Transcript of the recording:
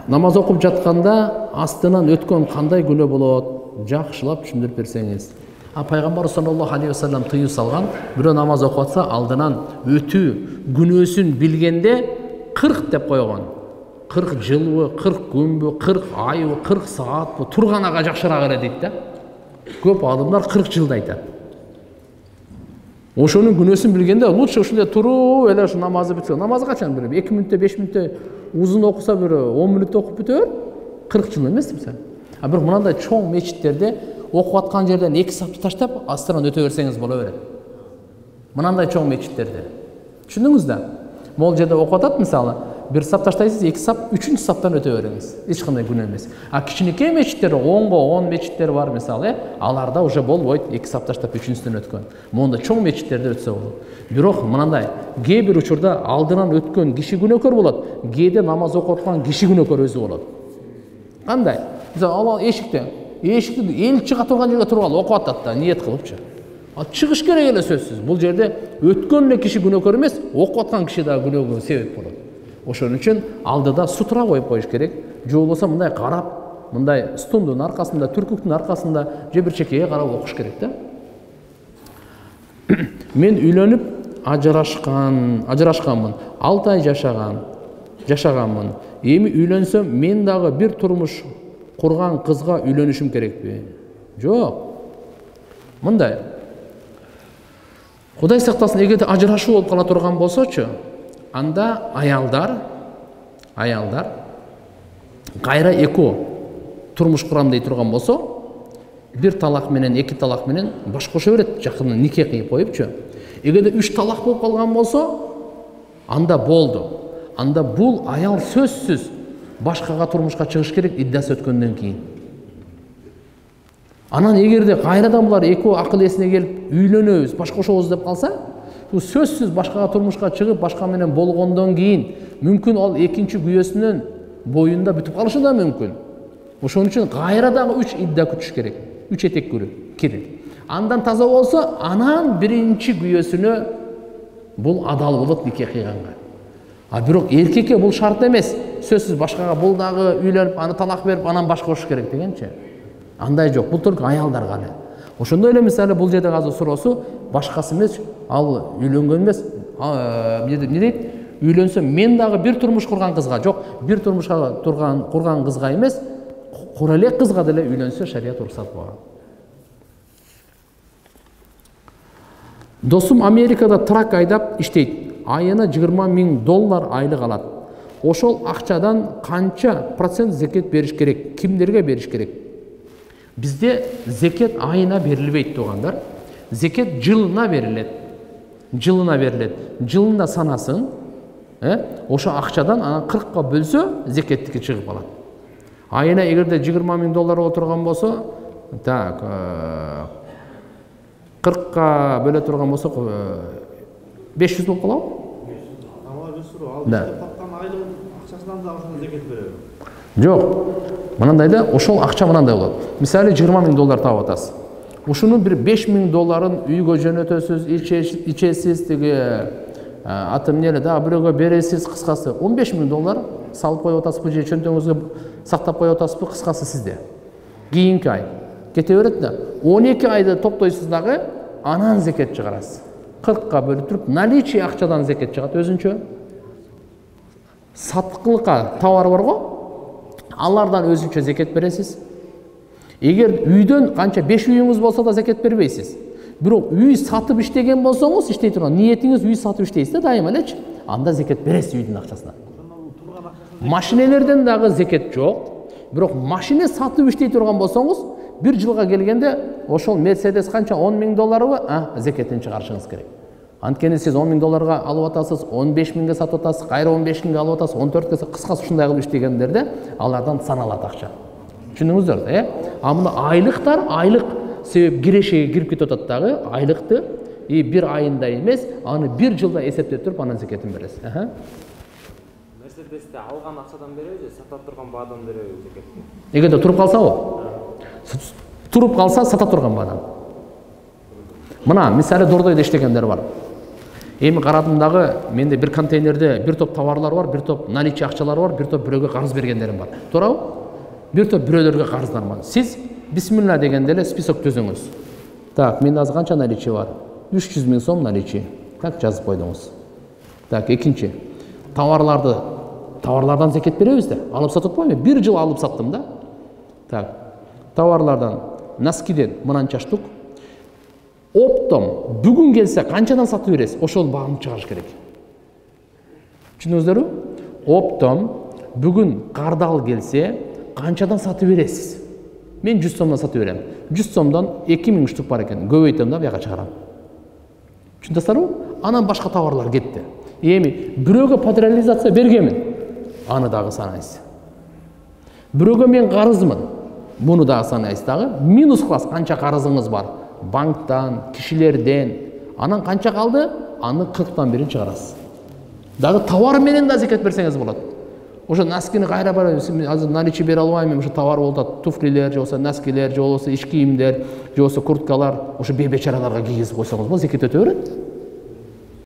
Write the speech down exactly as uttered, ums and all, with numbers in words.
намаз окуп жатканда астынан өткөн кандай күнөө болот? Жакшылап түшүндүрүп берсеңиз. А пайгамбар саллаллаху алейхи вассалам тыюу салган, бирөө намаз окуп атса, алдынан өтүү күнөөсүн билгенде кырк деп койгон. кырк жылбы, кырк күнбү, кырк айбы, кырк саатпы турганага жакшыраак эле дейт да. Көп адамдар кырк жылды айтат. Ошонун күнөөсүн билгенде лучше ушундай туруп эле ушу намазды бүтсө. Намаз качан бирөө эки мүнөттө, беш мүнөттө узун окуса бирөө он мүнөттө окуп бүтөөр. кырк жыл эмеспи сен? А бирок мынандай чоң мечиттерде окуп аткан жерден эки сапты таштап астынан өтө берсеңиз боло берет. Мынандай чоң мечиттерде. Түшүндүңүз да? Могул жерде окуп атат мисалы, бир сап таштайсыз, эки сап, үчүнчү саптан өтө бериңиз. Эч кандай күнөө эмес. А кичинекей мечиттер, онго он мечиттер бар мисалы, аларда уже болбойт, эки сап таштап үчүнчүсүнөн өткөн. Монда чоң мечиттерде өтсө болот. Бирок мынандай кээ бир учурда алдынан өткөн киши күнөөкөр болот, кээде намаз окуп аткан киши күнөөкөр өзү болот. Кандай? Мисалы, ал эшикте, эшикти эл чыга турган жерге туруп алып окуп атат да, ниет кылыпчы. Ал чыгыш керек эле сөзсүз. Бул жерде өткөн эле киши күнөөкөр эмес, окуп аткан киши да күнөөгө себеп болот. Ошон үчүн алдыда сутура коюп коюш керек. Же болбосо мындай карап, мындай стундун аркасында, түркүктүн аркасында же бир чекеге карап окуш керек да. Мен үйлөнүп ажырашкан, ажырашканмын. алты ай жашаган, жашаганмын. Эми үйлөнсөм, мен дагы бир турмуш курган кызга үйлөнүшүм керекпи? Жок. Мындай. Кудай сактасын, эгерде ажырашуу болуп кала турган болсочу, анда аялдар, аялдар кайра экөө турмуш курам дей турган болсо, бир талак менен, эки талак менен баш кошо берет, жакын нике кыйып коюпчу. Эгерде үч талак болуп калган болсо, анда болду. Анда бул аял сөзсүз башкага турмушка чыгыш керек иддасы өткөндөн кийин. Анан эгерде кайрадан булар экөө акыл эсине келип үйлөнөбүз, баш кошобуз деп калса, бул сөзсүз башкага турмушка чыгып, башка менен болгондон кийин мүмкүн ал экинчи күйөөсүнүн боюнда бүтүп калышы да мүмкүн. Ошон үчүн кайра дагы үч идда күтүш керек. үч этек кирип. Андан таза болсо, анан биринчи күйөөсүнө бул адал болот нике кыйганга. А бирок эркекке бул шарт эмес. Сөзсүз башкага бул дагы үйлөнүп, аны талак берип, анан баш кошуш керек дегенчи. Андай жок. Бул только аялдарга эле. Ошондой эле мисалы бул жерде азыр суроосу башкасы эмес, ал үйлөнгөн эмес. Эмне дейт? Үйлөнсөм, мен дагы бир турмуш курган кызга, жок, бир турмушка турган курган кызга эмес, кура элек кызга деле үйлөнсө шарият уруксат болгон. Досум Америкада трак айдап иштейт. Айына жыйырма миң доллар айлык алат. Ошол акчадан канча процент зекет бериш керек? Кимдерге бериш керек? Бизде зекет айына берилбейт тугандар. Зекет жылына берилет. Жылына берилет. Жылында санасын, э? Ошо акчадан анан кыркка бөлсө, зекеттики чыгып калат. Айына эгерде жыйырма миң доллар отурган болсо, так, кыркка бөлө турган болсо, беш жүз болуп калабы? Да. Жок. Мынандай да, ошол акча мынандай болот. Мисалы жыйырма миң доллар таап атасыз. Ушунун бир беш миң долларын үйгө жөнөтөсүз, ичесиз, тиги аты эмне эле да, бирөөгө бересиз, кыскасы он беш миң доллар салып коюп атасызбы же чөнтөгүңүзгө сактап коюп атасызбы, кыскасы сизде. Кийинки ай кете берет да, он эки айды топтойсуз дагы, анан зекет чыгарасыз. кыркка бөлүп туруп, наличие акчадан зекет чыгат өзүнчө. Саткылыкка товар барго, алардан өзүнчө зекет бересиз. Эгер үйдөн канча беш үйүңүз болсо да зекет бербейсиз. Бирок үй сатып иштеген болсоңуз, иштей турган ниетиңиз үй сатып иштейсиз да дайыма элечи, анда зекет бересиз үйдүн акчасына. Машинелерден дагы зекет жок. Бирок машина сатып иштей турган болсоңуз, бир жылга келгенде ошол Мерседес канча он миң долларбы, а, зекетин чыгарышыңыз керек. Анткени сиз он миң долларга алып атасыз, он беш миңге сатып атасыз, кайра он беш миңге алып атасыз, он төрткө, кыскасы ушундай кылып иштегендерде алардан саналат акча. Түшүндүңүздөр, э? А мына айлыктар, айлык себеп кирешеге кирип кетип атат дагы, айлыкты и бир айында эмес, аны бир жылда эсептеп туруп анан зекетин бересиз. Аха. Мерседесте алган акчадан береби, сата турган баадан береби зекетти? Эгерде туруп калсабы? Туруп калса сата турган баадан. Мына мисалы Дордойдо иштегендер бар. Эми карадым дагы, менде бир контейнерде бир топ товарлар бар, бир топ наличие акчалар бар, бир топ бирөөгө карыз бергендерим бар. Туурабы? Бир топ бирөөлөргө карыздар бар. Сиз бисмилла дегенде эле список түзүңүз. Так, менде азыр канча наличие бар? үч жүз миң сом наличие. Так, жазып койдуңуз. Так, экинчи. Товарларды, товарлардан зекет беребиз да. Алып сатып атпайбы? Бир жыл алып саттым да. Так. Товарлардан, носкиден мынанча штук. Оптом бүгүн келсе канчадан сатып бересиз? Ошол багымды чыгарыш керек. Түшүндүңүздөрбү? Оптом бүгүн кардал келсе канчадан сатып бересиз? Мен жүз сомдон сатып берем. жүз сомдон эки миң штук бар экен. Көбөйтөм да бияка чыгарам. Түшүндүңүздөрбү? Анан башка товарлар кетти. Эми бирөөгө патериализация бергенмин. Аны дагы санайсыз. Бирөөгө мен карызмын. Муну дагы санайсыз дагы. Минус класс канча карызыңыз бар? Банктан, кишилерден. Анан канча калды? Аны кырктан бирин чыгарасыз. Дагы товар менен да зекет берсеңиз болот. Ошо носкини кайра барып, азыр наличие бере албайм, ошо товар болуп атат, туфлилер, же болбосо носкилер, же болбосо иш кийимдер, же болбосо курткалар, ошо бейбечараларга кийгизип койсоңуз болот, зекет өтө берет.